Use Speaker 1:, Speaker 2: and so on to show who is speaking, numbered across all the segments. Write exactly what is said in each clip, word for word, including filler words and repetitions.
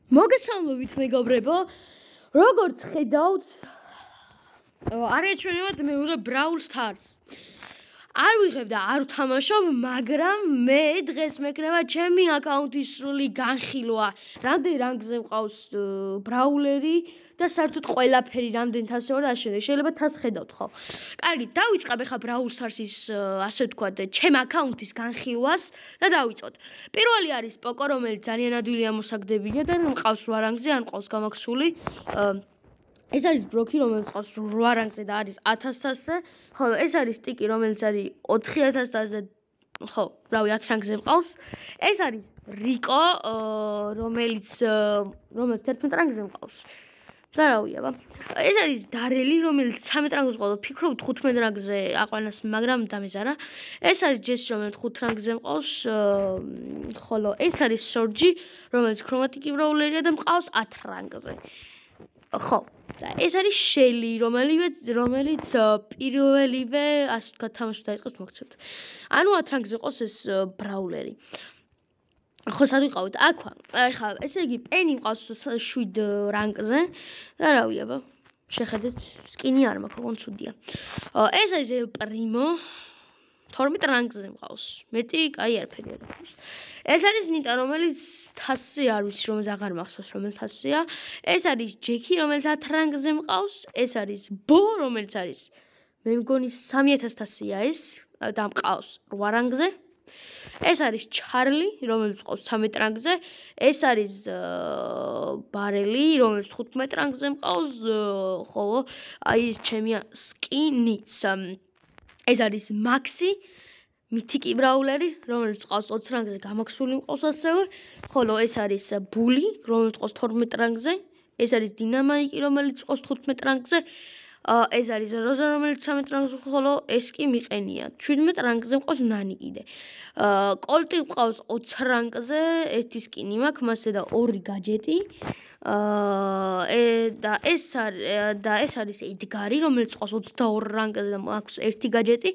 Speaker 1: მოგესალმებით მეგობრებო, როგორც ხედავთ, არაჩვენებად მე ვიღებ Brawl Stars. არ ვიღებ და არ ვთამაშობ, მაგრამ მე დღეს მეკრება ჩემი აკაუნტის სრული განხილვა. რამდენ რანგზე მყავს ბრაულერი და საერთოდ ყველაფერი რამდენ თასზე ვარ და აშენე. შეიძლება თას ხედავთ ხო? კარგი, დავიწყებ ახლა Brawl Stars-ის ასე ვთქვათ, ჩემ აკაუნტის განხილვას და დავიწყოთ. პირველი არის პოკო, რომელიც ძალიან ადვილი ამოსაგდებია და მყავს რვა რანგზე, ან მყავს გამაქსული. ეს არის ბროკი, რომელიც ყავს რვა რანგზე და არის ათას თასზე. ხოლო ეს არის ტიკი, რომელიც არის ოთხი ათას თასზე. ხო, რავი, ათს რანგზე მყავს. ეს არის რიკო, რომელიც რომელიც თერთმეტ რანგზე მყავს. და რავი, აბა. ეს არის დარელი, რომელიც ცამეტ რანგზე მყავს. ფიქრობ თხუთმეტ რანგზე აყვანას, მაგრამ დამეზარა. ეს არის ჯესი, რომელიც ხუთ რანგზე მყავს. ხოლო ეს არის სორჯი, რომელიც ქრომატიკი ბრაულერია და მყავს ათ რანგზე. ხო, და ეს არის შელი, რომელიც რომელიც პირველივე ასე ვთქვათ თამაში დაიწყოს მოგცემთ. ანუ ათ რანგზე ყავს ეს ბრაულერი. ხო, სად ვიყავით? აქვე. ახლა ესე იგი პენი მყავს შვიდ რანგზე და რავი, აბა. შეხედეთ, სკინი არ მაქვს, ოღონდ ცუდია. ეს არის ელ პრიმო. თორმეტ რანგზე მყავს. მეტი, კაი, არაფერი არ აქვს. ეს არის ნიტა, რომელიც თასზე არ ვიცი, რომელიც აღარ მახსოვს, რომელ თასზეა. ეს არის ჯექი, რომელიც ათ რანგზე მყავს. ეს არის ბო, რომელიც არის მე მგონი სამი ათას თასია ეს და მყავს რვა რანგზე. ეს არის ჩარლი, რომელიც მყავს ცამეტ რანგზე. ეს არის ბარელი, რომელიც თხუთმეტ რანგზე მყავს, ხოლო აი ეს ჩემი სკინიც. ეს არის მაქსი, მითიკი ბრაულერი, რომელიც ყავს ოცი რანგზე, გამაქსული მყავს ასევე. ხოლო ეს არის ბული, რომელიც ყავს თორმეტ რანგზე. ეს არის დინამაიკი, რომელიც ყავს თხუთმეტ რანგზე. ეს არის როზა, რომელიც ცამეტ რანგზე, ხოლო ეს კი მიყენია. შვიდმეტ რანგზე მყავს ნანი კიდე. კოლტი მყავს ოცი რანგზე, ერთი სკინი მაქვს, მასე და ორი გაჯეტი. და ეს არის და ეს არის ედგარი, რომელიც ყავს ოცდაორი რანგზე და მაქვს ერთი გაჯეტი.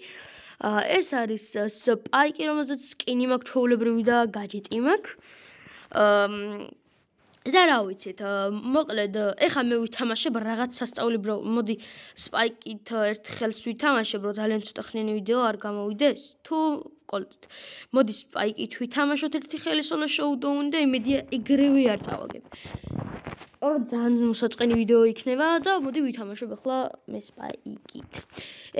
Speaker 1: ეს არის სპაიკი, რომელზეც სკინი მაქვს ჩვეულებრივი და გაჯეტი მაქვს. და რა ვიცით, მოკლედ, ეხლა მე ვითამაშებ რაღაც სასწაულებრივ, მოდი სპაიკით ერთ ხელს ვითამაშებ, რომ ძალიან ცოტა ხნიანი ვიდეო არ გამოვიდეს, თუ კოლტით. მოდი სპაიკით ვითამაშოთ ერთი ხელი სოლო შოუდოუნი და იმედია ეგრევე არ წავაგებ. სწორად ძალიან მოსაწყენი ვიდეო იქნება და მოდი ვითამაშებ ახლა მე სპაიკით.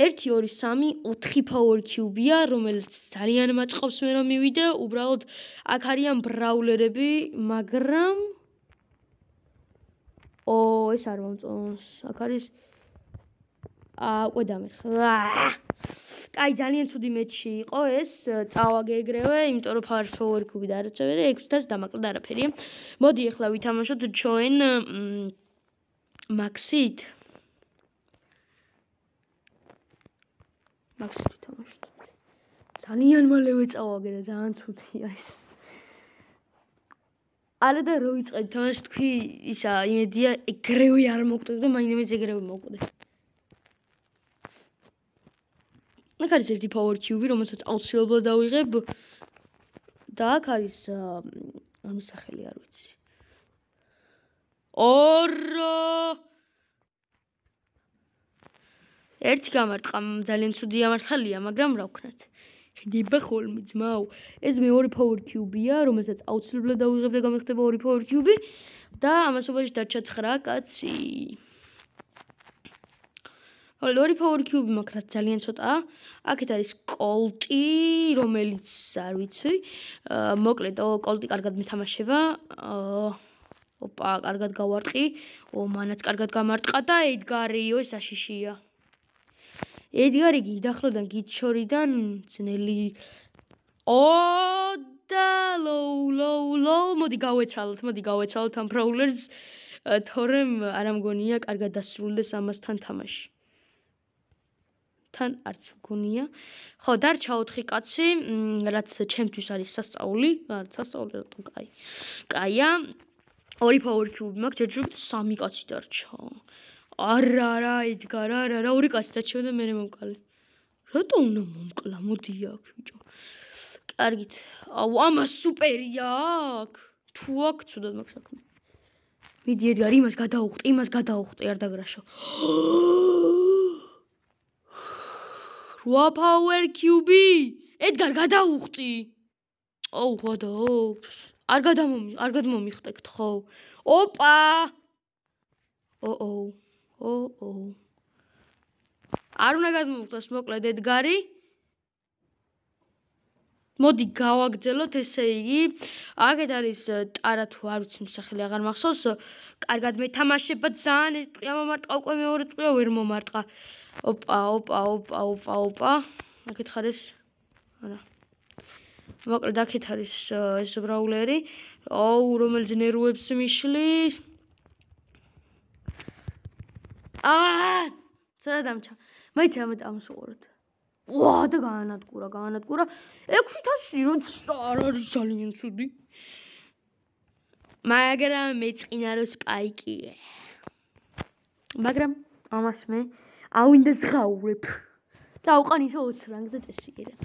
Speaker 1: ერთი ორი სამი ოთხი power cube-ია, რომელიც ძალიან მაწყობს მე რომ მივიდე, უბრალოდ აქ არიან ბრაულერები, მაგრამ ო, ეს არ მომწონს. აქ არის აა, უკვე დამერხა. კაი, ძალიან ცუდი მეჩი იყო ეს, წავაგე ეგრევე, იმიტომ რომ power cube და არაცებერი, ექვსი თასი დამაკლა და არაფერია. მოდი ახლა ვითამაშოთ ჩვენ მაქსით. მაქსით ვითამაშოთ. ძალიან მალევე წავაგე და ძალიან ცუდია ეს. არა და რო ვიწყებ თამაში თქვი ისა იმედია ეგრევე არ მოვკვდები და მაინც ეგრევე მოვკვდე. აქ არის ერთი power cube, რომელსაც აუცილებლად დავიღებ და აქ არის ამის სახელი არ ვიცი. ორო! ერთი გამარტყა, ძალიან ცუდი ამარტყალია, მაგრამ რა ვქნათ. ხედება ხოლმე ძმაო. ეს მეორე power cube-ია, რომელსაც აუცილებლად დავიღებ და გამეხდება ორი power cube და ამასობაში დარჩა ცხრა კაცი. ხოლო ორი power cube მაქვს, რაც ძალიან ცოტაა. აქეთ არის კოლტი, რომელიც არ ვიცი. მოკლედ, კოლტი კარგად მითამაშება. ოპა, კარგად გავარტყი. ო, მანაც კარგად გამარტყა და ედგარი, ო, ეს აშიშია. ედგარი გიდახლოდან, გიჩორიდან ძნელი. ო და ლოუ, ლოუ, ლოუ, მოდი გავეცალოთ, მოდი გავეცალოთ ამ ბრაულერს, თორემ არ ამგონია კარგად დასრულდეს ამასთან თამაში. თან არც მგონია. ხო, დარჩა ოთხი კაცი, რაც ჩემთვის არის სასწაული, არა, სასწაული რატომ კაი. კაია. ორი power cube მაქვს, ჯერჯერობით სამი კაცი დარჩა. არა, არა, ედგარ, არა, არა, ორი კაცი დარჩა და მე მომკლე. რატო უნდა მომკლა? მოდი აქ, ბიჭო. კარგით. აუ, ამას სუპერია აქ. თუ აქ, ცუდად მაქვს საქმე. მიდი ედგარ, იმას გადაუხტი, იმას გადაუხტი, არ დაგრაშო. რვა power cube. ედგარ, გადაუხტი. ოუ, გადაუხტ. არ გადამომი, არ გადმომიხტეთ ხო? ოპა! ოო. ოო. არ უნდა გადმოვხტოს მოკლედ ედგარი. მოდი გავაგრძელოთ, ესე იგი, აქეთ არის ტარა თუ არ ვიცი სახელი აღარ მახსოვს. კარგად მეთამაშება ძალიან ერთ ტყია მომარტყა, უკვე მეორე ტყია ვერ მომარტყა. ოპა, ოპა, ოპა, ოპა, ოპა. აქეთ ხარ ეს. არა. მოკლედ აქეთ არის ეს ბრაულერი. აუ, რომელიც ნერვებს მიშლის. აა! სადა დამჩა. მაინც ამეთ ამსუყურეთ. ვა და გაანადგურა, გაანადგურა. ექვსი ათასი როცა არ არის ძალიან ცუდი. მაგრამ მეწყინა რომ სპაიკია. მაგრამ ამას მე ავინდა ზღაურებ. და უყან ისე ოცი რანგზე წესიერად.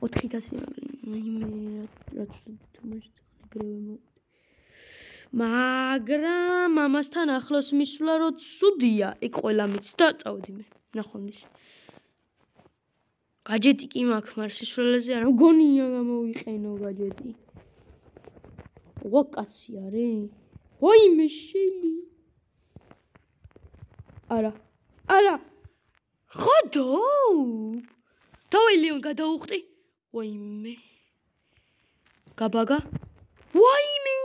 Speaker 1: ოთხი ათასი მე რაც თამაშობ ეგრევე მო. მაგრამ ამასთან ახლოს მისვლა რო ცუდია, იქ ყველა მიცდა, წავედი მე. ნახვამდის. გაჯეტი კი მაქვს, მაგრამ სისულელეზე არა, მგონია გამოვიყენო გაჯეტი. ვა კაცი არის? ვაიმე შელი. არა. არა. ხოდო? დავაი ლეონ გადაუხტი. ვაიმე. გაბაგა. ვაიმე.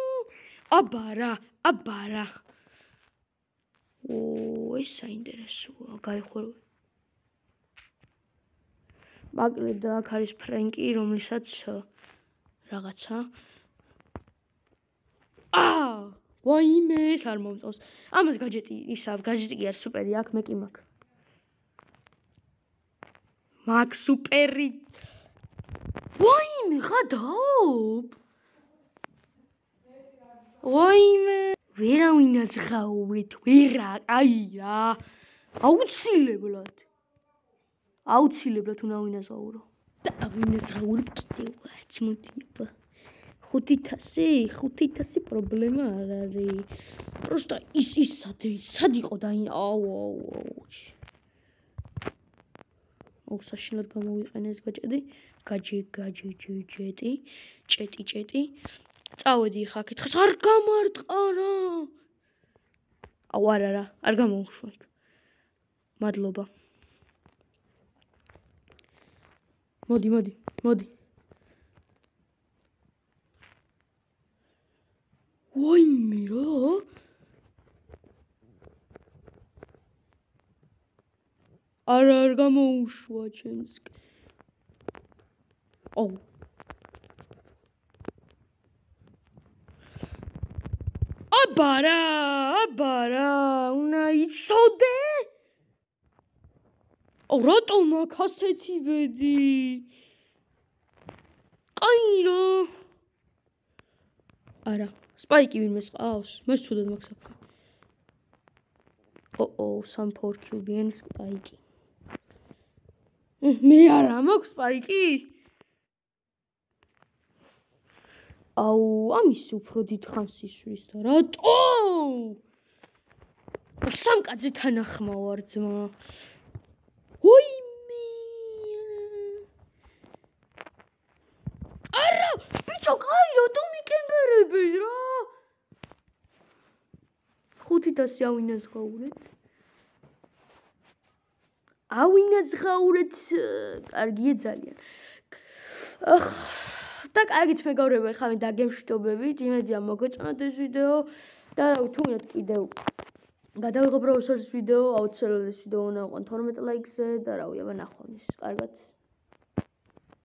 Speaker 1: აბარა, აბარა. ო, ეს საინტერესოა, გაიხوره. მაგრამ აქ არის ფრენკი, რომლისაც რაღაცა. აა, ვაიმე, ეს არ მომწონს. ამას გაჯეტი, ისა, გაჯეტი კი არის სუპერი, აქ მე კი მაქვს. მაქვს სუპერი. ვაიმე, ხადაობ. ვაიმე, ვერავინ აზღაურეთ, ვერა, აი რა. აუცილებლად. აუცილებლად უნდა ვინაზღაურო. და ვინაზღაურებ კიდევაც, მოდი აბა. ხუთი ათასი, ხუთი ათასი პრობლემა არ არის. პროსტა ის ის სად სად იყო და აუ აუ აუ. აუ საშინლად გამოვიყენე ეს გაჭედი. გაჯე გაჯე ჯეტი, ჭეტი ჭეტი. წავედი ხა კითხეს არ გამარტყა რა. აუ არა არა, არ გამოუშვა იქ. მადლობა. მოდი, მოდი, მოდი. ვაიმე რა? არა არ გამოუშვა ჩემს. აუ. აბარა, აბარა, უნდა იცოდე? აუ რატომ აქ ასეთი ბედი? ყაირო. არა, სპაიკი ვინმე ყავს? მე ცუდად მაქვს საქმე. ოო, სამ power cube-იან სპაიკი. მე არა მაქვს სპაიკი? აუ, ამის უფრო დიდხანს ისვრის და რატო? სამკაცზე თანახმა ვარ ძმა. ვაიმე. არა, ბიჭო, კაი რატომ მიკემბერები რა? ხუთი ათასი ავინაზღაურეთ. ავინაზღაურეთ, კარგია ძალიან. ახ და კარგით მეგობრებო, ხა მე დაგემშვიდობებით, იმედია მოგეწონათ ეს ვიდეო და თუ გინდათ კიდევ გადავიღო პროფესორის ვიდეო, აუცილებლად ეს ვიდეო უნდა აყვან თორმეტ ლაიქზე და რავი, აბა ნახვამდის. კარგად.